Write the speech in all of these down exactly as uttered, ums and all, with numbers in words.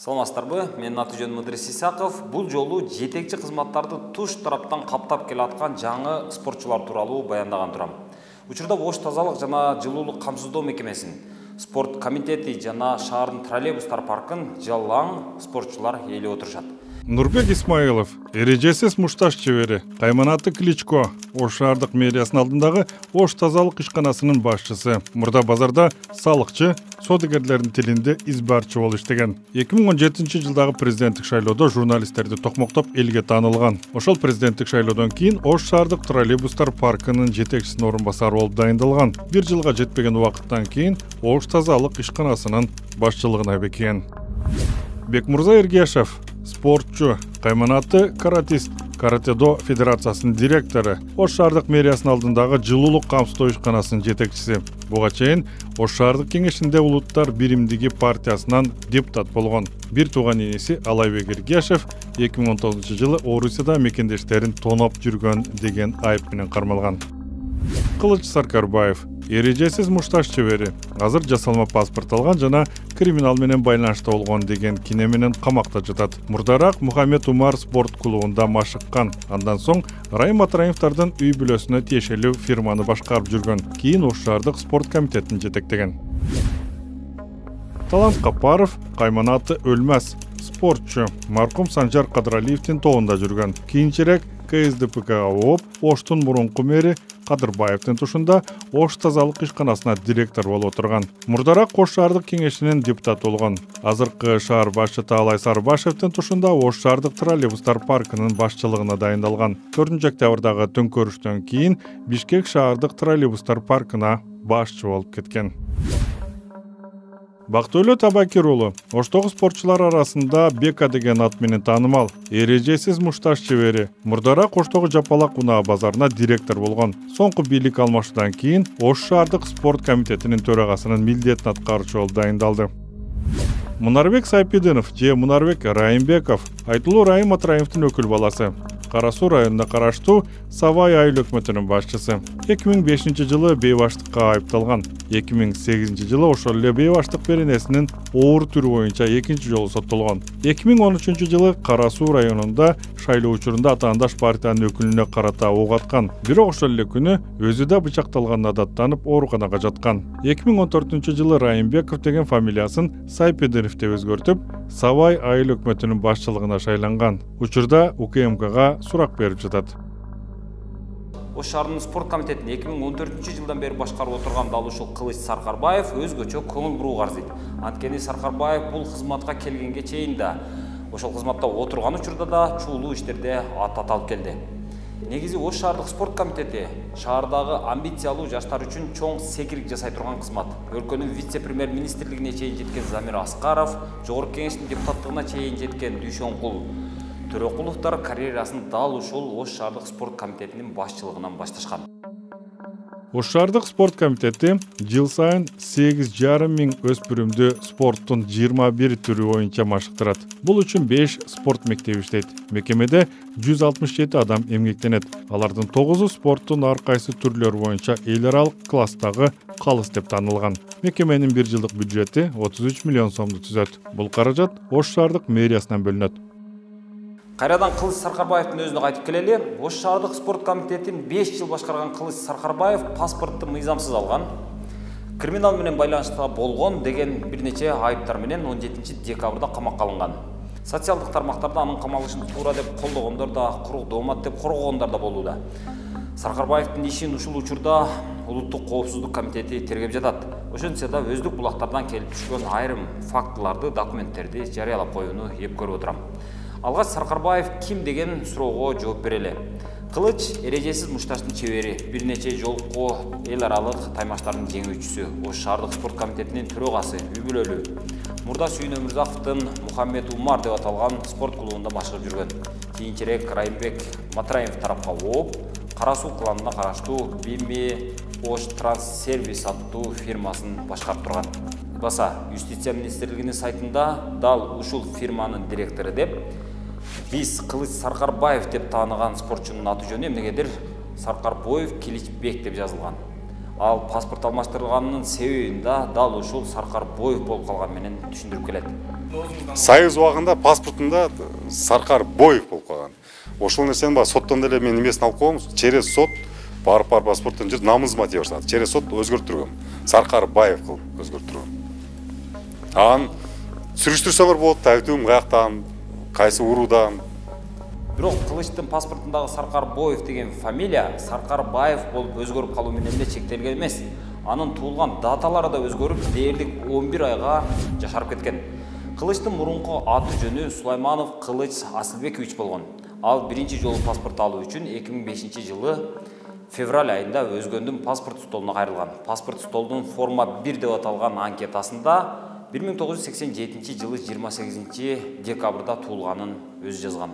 Саламатсыздарбы? Менин аты жөнүм Ыдырыс Исаков. Бул жолу жетекчи кызматтарды туш тараптан каптап келаткан жаңы спортчулар тууралуу баяндаган турам. Учурда Ош тазалык жана жылуулук камсыздоо мекемесин, спорт комитети жана шаардын троллейбустар паркын жалаң спортчулар ээлеп отурушат. Нурбек Исмаилов, эрежесиз мушташ чебери, Кайманаты Кличко, Ош шаардык мэриясынын алдындагы Ош тазалык ишканасынын башчысы. Мурда базарда салыкчы, содагерлердин тилинде избарчы болуп иштеген. эки миң он жетинчи жылдагы президенттик шайлоодо журналисттерди токмоктоп элге таанылган. Ошол президенттик шайлоодон кийин Ош шаардык троллейбустар паркынын жетекчисинин орун басары болуп дайындалган. Бир жылга жетпеген убакыттан кийин Ош тазалык ишканасынын башчылыгына бекиген. Бекмурза Эргешев, спортчу, Кайманаты каратист, Каратедо федерациясынын директору, Ош шаардык мэриясынын алдындагы жылуулук камсыздоо ишканасынын жетекчиси. Буга чейин Ош шаардык кеңешинде улуттар биримдиги партиясынан депутат болгон. Бир тууган иниси Алайбек Эргешев эки миң он тогузунчу жылы Орусияда мекендештерин тоноп жүргөн деген айып менен кармалган. Кылыч Саркарбаев, эрежесиз мушташ чебери, азыр жасалма паспорт алган жана криминал менен байланышта болгон деген кине менен камакта жатат. Мурдараак Мухаммед Умар спорт клубунда машыккан. Андан соң Райым Матраимовдардын үй бүлөсүнө тиешелүү фирманы башкарып жүргөн. Кийин Ош шаардык спорт комитетин жетектеген. Талант Капаров, Кайманаты өлмөс, спортчу, маркум Санжар Кадыралиевдин тобунда жүргөн. Кийинчерээк К С Д П Кга ооп, Оштун мурунку мэри Кадырбаевдин тушунда Ош тазалык ишканасына директор болуп отурган. Мурдараак Ош шаардык кеңешинин депутаты болгон. Азыркы шаар башчы Таалай Сарыбашевдин тушунда Ош шаардык троллейбустар паркынын башчылыгына дайындалган. төртүнчү октябрдагы төңкөрүштөн кийин Бишкек шаардык троллейбустар паркына башчы болуп кеткен. Бактыөлө Табакир уулу, Оштогу спортчулар арасында Бека деген ат менен таанымал, эрежесиз мушташ чебери. Мурдараак Оштогу Жапалак унаа базарына директор болгон. Соңку бийлик алмашуудан кийин Ош шаардык спорт комитетинин төрагасынын милдетин аткаруучу болуп дайындалды. Мунарбек Сайпидинов же Мунарбек Райымбеков, айтылуу Райым Матраимовдун өкүл баласы. Кара Суу районуна караштуу Савай айыл өкмөтүнүн башчысы. эки миң бешинчи жылы бейбаштыкка айыпталган. эки миң сегизинчи жылы ошол эле бейбаштык беренесинин оор түрү боюнча экинчи жолу соттолгон. эки миң он үчүнчү жылы Кара Суу районунда шайлоо учурунда атаандаш партиянын өкүлүнө карата ок аткан. Бирок ошол эле күнү өзү да бычакталганына даттанып ооруканага жаткан. эки миң он төртүнчү жылы Райымбеков деген фамилиясын Сайпидинов деп өзгөртүп, Савай айыл өкмөтүнүн башчылыгына шайланган. Учурда У К М Кга сурак берип жатат. Ош шаарынын спорт комитетин эки миң он төртүнчү жылдан бери башкарып отурган дал ушул Кылыч Саркарбаев өзгөчө көңүл бурууга арзыйт. Анткени Саркарбаев бул кызматка келгенге чейин да, ошол кызматта отурган учурда да чуулуу иштерде ат аталып келди. Негизи Ош шаардык спорт комитети шаардагы амбициялуу жаштар үчүн чоң секирик жасай турган кызмат. Өлкөнүн вице-премьер-министрлигине чейин жеткен Замир Аскаров, жогорку кеңештин депутаттыгына чейин жеткен Дүйшөнкул Төрөкуловдор карьерасын дал ушул Ош шаардык спорт комитетинин башчылыгынан башташкан. Ош шаардык спорт комитети жыл сайын сегиз жарым миң өспүрүмдү спорттун жыйырма бир түрү боюнча машыктырат. Бул үчүн беш спорт мектеби иштейт. Мекемеде жүз алтымыш жети адам эмгектенет. Алардын тогузу спорттун ар кайсы түрлөрү боюнча эл аралык класстагы калыс деп танылган. Мекеменин бир жылдык бюджети отуз үч миллион сомду түзөт. Бул каражат Ош шаардык мэриясынан бөлүнөт. Кайрадан Кылыч Саркарбаевдин өзүнө кайтып келели. Ош шаардык спорт комитетин беш жыл башкарган Кылыч Саркарбаев паспортты мыйзамсыз алган, криминал менен байланышта болгон деген бир нече айыптар менен он жетинчи декабрда камакка алынган. Социалдык тармактарда анын камалышын туура деп колдогондор да, курук доомат деп коргогондор да болууда. Саркарбаевдин ишин ушул учурда Улуттук коопсуздук комитети тергеп жатат. Ошентсе да өздүк булактардан келип түшкөн айрым фактыларды, документтерди жарыялап коюуну эп көрүп отурам. Алгач Саркарбаев ким деген суроого жооп берели. Кылыч эрежесиз мушташтын чебери, бир нече жолку эл аралык таймаштардын жеңүүчүсү, Ош шаардык спорт комитетинин төрагасы, үй бүлөлүү. Мурда Сүйүн Өмүрзаковдун Мухаммед Умар деп аталган спорт клубунда машыгып жүргөн. Кийинчерээк Райымбек Матраимов тарапка ооп, Кара Суу кланына караштуу Бими Ош Транссервис аттуу фирмасын башкарып турган. Баса, Юстиция министрлигинин сайтында дал ушул фирманын директору деп биз Кылыч Саркарбаев деп тааныган спортчунун аты жөнү эмнегедир Саркарбоев Киличбек деп жазылган. Ал паспорт алмаштырылганынын себебин да дал ушул Саркарбоев болуп калган менен түшүндүрүп келет. Союз убагында паспортунда Саркарбоев болуп калган. Ошол нерсени баягы соттон деле мен эмесин алып койгом, через сот барып барып паспорттун жер намызыма тие баштады. Через сот өзгөртүргөм. Саркарбаев кылып өзгөртүргөм. Анан сүрүштүрсөңөр болот, айтуум каяктан, кайсы уруудан. Бирок Кылычтын паспортундагы Саркарбоев деген фамилия Саркарбаев болуп өзгөрүп калуу менен эле чектелген эмес. Анын туулган даталары да өзгөрүп, дээрлик он бир айга жашарып кеткен. Кылычтын мурунку аты жөнү Сулайманов Кылыч Асылбекович болгон. Ал биринчи жолу паспорт алуу үчүн эки миң бешинчи жылы февраль айында өзгөндүн паспорт столуна кайрылган. Паспорт столунун форма бир деп аталган анкетасында бир миң тогуз жүз сексен жетинчи жылы жыйырма сегизинчи декабрда туулганын өзү жазган.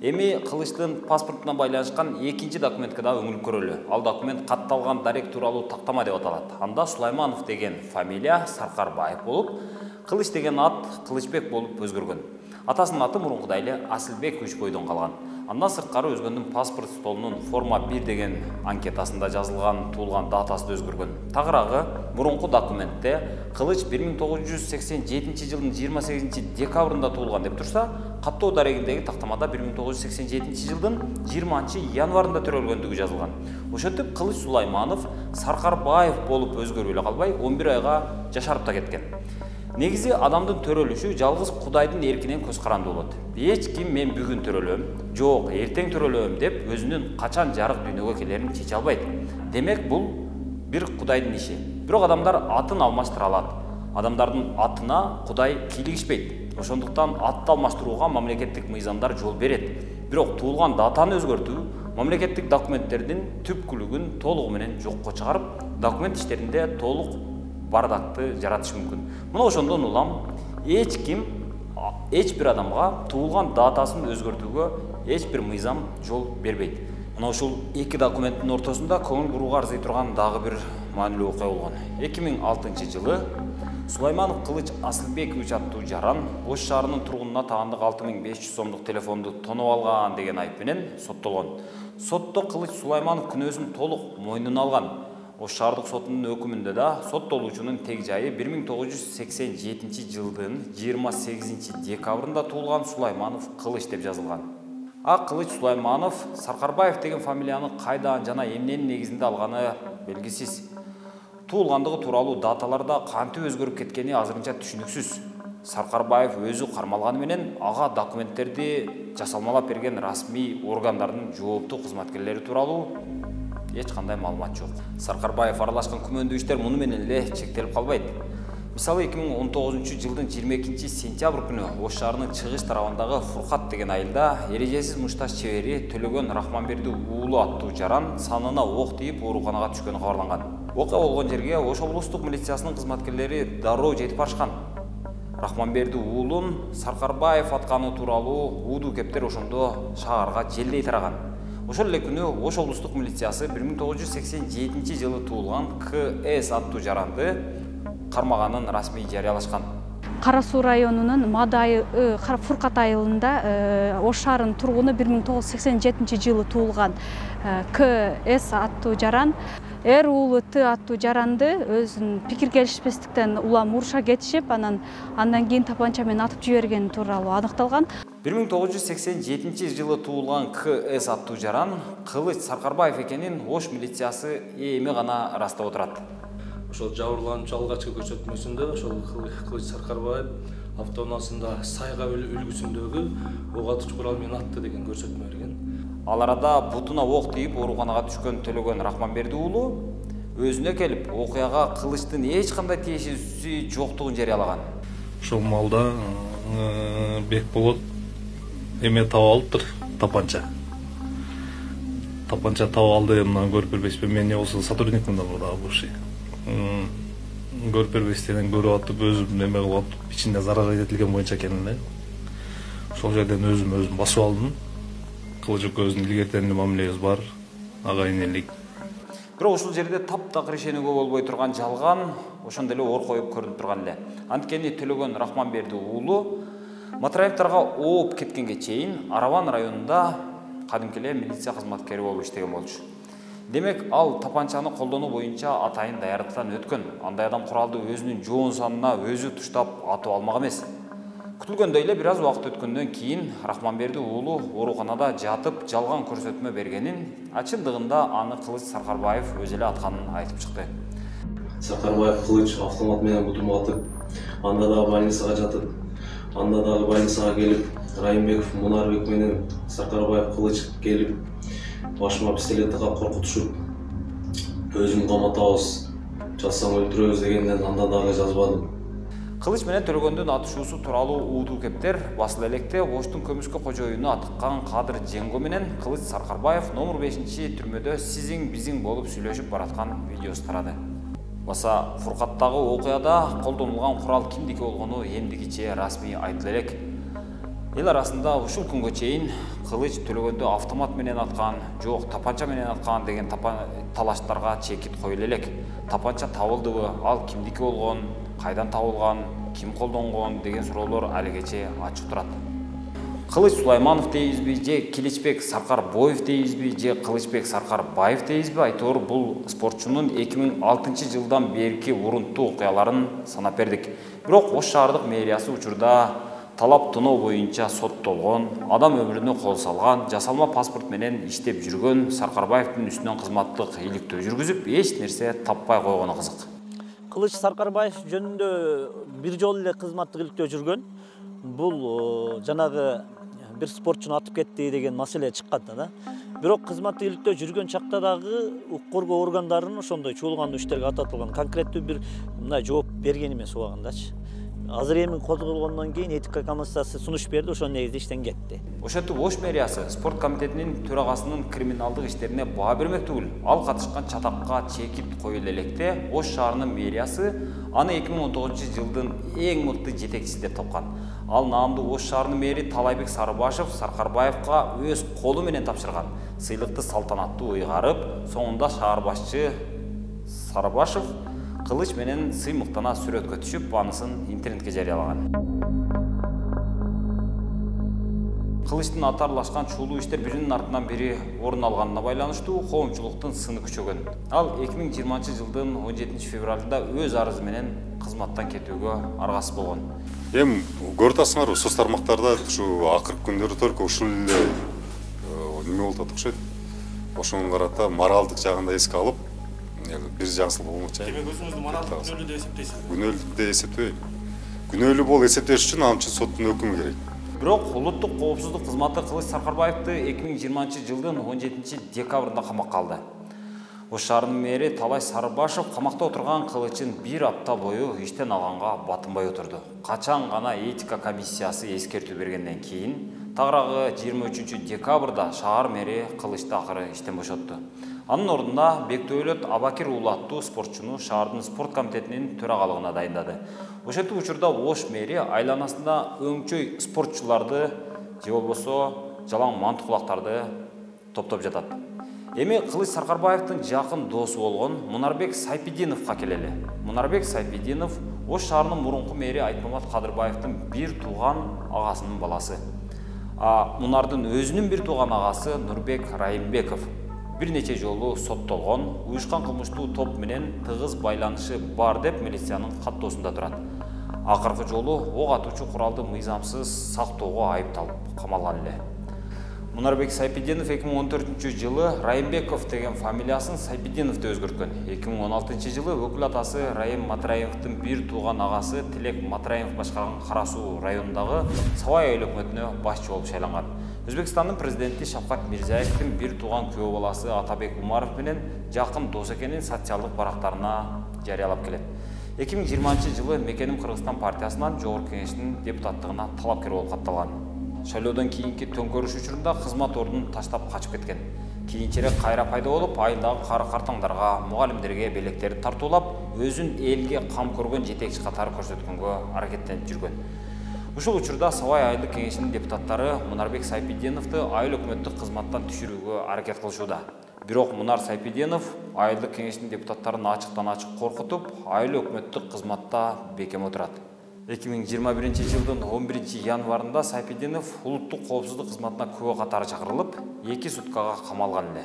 Эми Кылычтын паспортуна байланышкан экинчи документке да өңүлүп көрөлү. Ал документ катталган дарек тууралуу тактама деп аталат. Анда Сулайманов деген фамилия Саркарбаев болуп, Кылыч деген ат Кылычбек болуп өзгөргөн. Атасынын аты мурункудай эле Асылбекович бойдон калган. Андан сырткары өзгөндүн паспорт столунун форма бир деген анкетасында жазылган туулган датасы да өзгөргөн. Тагыраагы мурунку документте Кылыч бир миң тогуз жүз сексен жетинчи жылдын жыйырма сегизинчи декабрында туулган деп турса, каттоо дарегиндеги тактамада бир миң тогуз жүз сексен жетинчи жылдын жыйырманчы январында төрөлгөндүгү жазылган. Ошентип Кылыч Сулайманов Саркарбаев болуп өзгөрүп эле калбай он бир айга жашарып да кеткен. Негизи адамдын төрөлүшү жалгыз Кудайдын эркинен көз каранды болот. Эч ким мен бүгүн төрөлөм, жок, эртең төрөлөм деп өзүнүн качан жарык дүйнөгө келерин чече албайт. Демек бул бир Кудайдын иши. Бирок адамдар атын алмаштыра алат. Адамдардын атына Кудай кийлигишпейт. Ошондуктан атты алмаштырууга мамлекеттик мыйзамдар жол берет. Бирок туулган датаны өзгөртүү мамлекеттик документтердин түпкүлүгүн толугу менен жокко чыгарып, документ иштеринде толук бардакты жаратышы мүмкүн. Мына ошондон улам эч ким эч бир адамга туулган датасын өзгөртүүгө эч бир мыйзам жол бербейт. Мына ушул эки документтин ортосунда көңүл бурууга арзый турган дагы бир маанилүү окуя болгон. эки миң алтынчы жылы Сулайманов Кылыч Асылбекович аттуу жаран Ош шаарынын тургунуна таандык алты миң беш жүз сомдук телефонду тонуп алган деген айып менен соттолгон. Сотто Кылыч Сулайманов күнөөсүн толук мойнуна алган. Ош шаардык сотунун өкүмүндө да соттолуучунун тег жайы бир миң тогуз жүз сексен жетинчи жылдын жыйырма сегизинчи декабрында туулган Сулайманов Кылыч деп жазылган. А Кылыч Сулайманов Саркарбаев деген фамилияны кайдан жана эмненин негизинде алганы белгисиз. Туулгандыгы тууралуу даталарда кантип өзгөрүп кеткени азырынча түшүнүксүз. Саркарбаев өзү кармалганы менен ага документтерди жасалмалап берген расмий органдардын жооптуу кызматкерлери тууралуу эч кандай маалымат жок. Саркарбаев аралашкан күмөндүү иштер муну менен эле чектелип калбайт. Мисалы эки миң он тогузунчу жылдын жыйырма экинчи сентябрь күнү Ош шаарынын чыгыш тарабындагы Фуркат деген айылда эрежесиз мушташ чебери Төлөгөн Рахманберди уулу аттуу жаран санына ок тийип ооруканага түшкөнү кабарланган. Окуя болгон жерге Ош облустук милициясынын кызматкерлери дароо жетип барышкан. Рахманберди уулун Саркарбаев атканы тууралуу уудуу кептер ошондо шаарга желдей тараган. Ошол эле күнү Ош облустук милициясы бир миң тогуз жүз сексен жетинчи жылы туулган К С аттуу жаранды кармаганын расмий жарыялашкан. Кара Суу районунун Мадай Фуркат айылында Ош шаарынын тургуну бир миң тогуз жүз сексен жетинчи жылы туулган К С аттуу жаран Р уулу Т аттуу жаранды өзүнүн пикир келишпестиктен улам уруша кетишип, анан андан кийин тапанча менен атып жибергени тууралуу аныкталган. бир миң тогуз жүз сексен жетинчи жылы туулган К С аттуу жаран Кылыч Саркарбаев экенин Ош милициясы эми гана ырастап отурат. Ошол жабырлануучу алгачкы көрсөтмөсүндө ошол Кылыч Саркарбаев автоунаасында Сайга үлгүсүндөгү ок атуучу курал менен атты деген көрсөтмө берген. Ал арада бутуна ок тийип ооруканага түшкөн Төлөгөн Рахманберди уулу өзүнө келип окуяга Кылычтын эч кандай тиешеси жоктугун жарыялаган. Ошол маалда Бекболот эме таап алыптыр, тапанча. Тапанча таап алды, мына көрүп бербейсизби? Мен эмне болсо сотрудникмин да мурда бывший. Көрүп бербейсизден көрүп атып, өзүм эме кылып атып, ичинде зарар этилген боюнча экенин эле. Ошол жерден өзүм өзүм басып алдым. Кылыч өзүнүн илгертен мамилебиз бар, агайын элек. Бирок ушул жерде таптак решениеге болбой турган жалган ошондо эле ор коюп көрүнүп турган эле. Анткени Төлөгөн Рахманберди уулу Матраевдарга ооп кеткенге чейин Араван районунда кадимки эле милиция кызматкери болуп иштеген болчу. Демек, ал тапанчаны колдонуу боюнча атайын даярдыктан өткөн. Андай адам куралды өзүнүн жоон санына өзү туштап атып алмак эмес. Күтүлгөндөй эле бир аз убакыт өткөндөн кийин Рахманберди уулу ооруканада жатып жалган көрсөтмө бергенин, чындыгында аны Кылыч Саркарбаев өзү эле атканын айтып чыкты. Саркарбаев Кылыч автомат менен бутум атып, анда дагы больницага жатып, анда дагы больницага келип, Райымбеков Мунарбек менен Саркарбаев Кылыч келип, башыма пистолет тагып коркутушуп, өзүн каматабыз, жазсаң өлтүрөбүз дегенден анда дагы жазбадым. Кылыч менен Төлөгөндүн атышуусу тууралуу уутуу кептер басыла электе Оштун көмүскө кожоюну атыккан Кадыр Женго менен Кылыч Саркарбаев номер бешинчи түрмөдө сизиң бизиң болуп сүйлөшүп бараткан видеосу тарады. Баса Фуркаттагы окуяда колдонулган курал кимдики болгону эмдигиче расмий айтыла элек. Эл арасында ушул күнгө чейин Кылыч Төлөгөндү автомат менен аткан, жок тапанча менен аткан деген талаштарга чекит коюла элек. Тапанча табылдыбы, ал кимдики болгон, кайдан табылган, ким колдонгон деген суроолор алигече ачык турат. Кылыч Сулайманов дейбизби, же Киличбек Саркарбоев дейбизби, же Кылычбек Саркарбаев дейбизби, айтор бул спортчунун эки миң алтынчы жылдан берки урунттуу окуяларын санап бердик. Бирок Ош шаардык мэриясы учурда талап тоноо боюнча соттолгон, адам өмүрүнө кол салган, жасалма паспорт менен иштеп жүргөн Саркарбаевдин үстүнөн кызматтык иликтөө жүргүзүп, эч нерсе таппай койгону кызык. Кылыч Саркарбаев жөнүндө бир жолу эле кызматтык иликтөө жүргөн. Бул жанагы бир спортчуну атып кетти деген маселе чыккан да. Бирок кызматтык иликтөө жүргөн чакта дагы укук коргоо органдарынын ошондой чуулгандуу иштерге ататылган конкреттүү бир мындай жооп берген эмес убагындачы. Азыр эми козголгондон кийин этика комиссиясы сунуш берди, ошонун негизинде иштен кетти. Ошентип Ош мэриясы спорт комитетинин төрагасынын криминалдык иштерине баа бермек түгүл, ал катышкан чатакка чекит коюла электе Ош шаарынын мэриясы аны эки миң он тогузунчу жылдын эң мыкты жетекчиси деп тапкан. Ал наамдуу Ош шаарынын мэри Талайбек Сарыбашев Саркарбаевга өз колу менен тапшырган. Сыйлыкты салтанаттуу ыйгарып, соңунда шаар башчы Сарыбашев Кылыч менен сыймыктана сүрөткө түшүп, анысын интернетке жарыялаган. Кылычтын атарлашкан чуулуу иштер биринин артынан бири орун алганына байланыштуу коомчулуктун сыны күчөгөн. Ал эки миң жыйырманчы жылдын он жетинчи февралында өз арызы менен кызматтан кетүүгө аргасыз болгон. Эми көрүп атасыңарбы, соц тармактарда ушу акыркы күндөрү только ушул эле неме болуп атат окшойт. Ошого карата моралдык жагын да эске алып, бир жаңсыл болмокчу. Демек өзүңүздү моралдык күнөөлүү деп эсептейсизби? Күнөөлүү деп эсептебейм. Күнөөлүү болуп эсептеш үчүн ал үчүн соттун өкүмү керек. Бирок улуттук коопсуздук кызматы Кылыч Саркарбаевди эки миң жыйырманчы жылдын он жетинчи декабрында камакка алды. Ош шаарынын мэри Талай Сарыбашев камакта отурган Кылычын бир апта бою иштен алганга батынбай отурду. Качан гана этика комиссиясы эскертүү бергенден кийин тагыраагы жыйырма үчүнчү декабрда шаар мэри Кылычты акыры иштен бошотту. Анын ордуна Бектөөлөт Абакир уулу аттуу спортчуну шаардын спорт комитетинин төрагалыгына дайындады. Ошентип учурда Ош мэри айланасында өңчөй спортчуларды же болбосо жалаң мантукулактарды топтоп жатат. Эми Кылыч Саркарбаевдин жакын досу болгон Мунарбек Сайпидиновго келели. Мунарбек Сайпидинов Ош шаарынын мурунку мэри Айтмамат Кадырбаевдин бир тууган агасынын баласы. А Мунардын өзүнүн бир тууган агасы Нурбек Райымбеков бир нече жолу соттолгон, уюшкан кылмыштуу топ менен тыгыз байланышы бар деп милициянын каттоосунда турат. Акыркы жолу ок атуучу куралды мыйзамсыз сактоого айыпталып камалган эле. Мунарбек Сайпидинов эки миң он төртүнчү жылы Райымбеков деген фамилиясын Сайпидинов деп өзгөрткөн. эки миң он алтынчы жылы өкүл атасы Райым Матраевдин бир тууган агасы Тилек Матраев башкарган Кара Суу районундагы Сабай айыл өкмөтүнө башчы болуп шайланган. Өзбекстандын президенти Шавкат Мирзиевдин бир тууган күйөө баласы Атабек Умаров менен жакын дос экенин социалдык барактарына жарыялап келет. эки миң жыйырманчы жылы Мекеним Кыргызстан партиясынан жогорку кеңештин депутаттыгына талапкер болуп катталган. Шайлоодон кийинки төңкөрүш учурунда кызмат ордун таштап качып кеткен. Кийинчерээк кайра пайда болуп, айылдагы кары картаңдарга, мугалимдерге белектерди тартуулап, өзүн элге кам көргөн жетекчи катары көрсөткөнгө аракеттенип жүргөн. Ушул учурда Сабай айылдык кеңешинин депутаттары Мунарбек Сайпидиновду айыл өкмөттүк кызматтан түшүрүүгө аракет кылышууда. Бирок Мунар Сайпидинов айылдык кеңешинин депутаттарын ачыктан ачык коркутуп, айыл өкмөттүк кызматта бекем отурат. эки миң жыйырма биринчи жылдын он биринчи январында Сайпидинов улуттук коопсуздук кызматына күбө катары чакырылып, эки суткага камалган эле.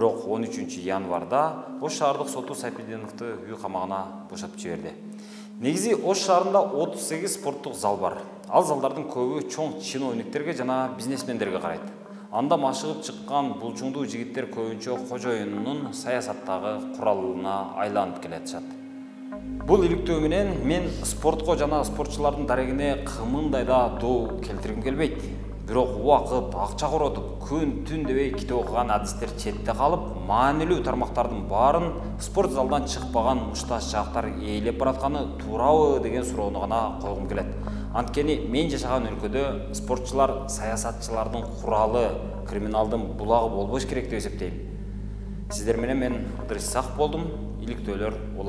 Бирок он үчүнчү январда Ош шаардык соту Сайпеденовду үй камагына бошотуп жиберди. Негизи Ош шаарында отуз сегиз спорттук зал бар. Ал залдардын көбү чоң чиновниктерге жана бизнесмендерге карайт. Анда машыгып чыккан булчуңдуу жигиттер көбүнчө кожоюнунун саясаттагы куралына айланып келатышат. Бул иликтөө менен мен спортко жана спортчулардын дарегине кымындай да доо келтиргим келбейт. Бирок убакыт, акча коротуп, күн түн дебей китеп окуган адистер четте калып, маанилүү тармактардын баарын спорт залдан чыкпаган мушташ жактар ээлеп баратканы туурабы деген суроону гана койгум келет. Анткени мен жашаган өлкөдө спортчулар саясатчылардын куралы, криминалдын булагы болбош керек деп эсептейм. Сиздер менен мен Ыдырыс Исаков болдум. Иликтөөлөр улан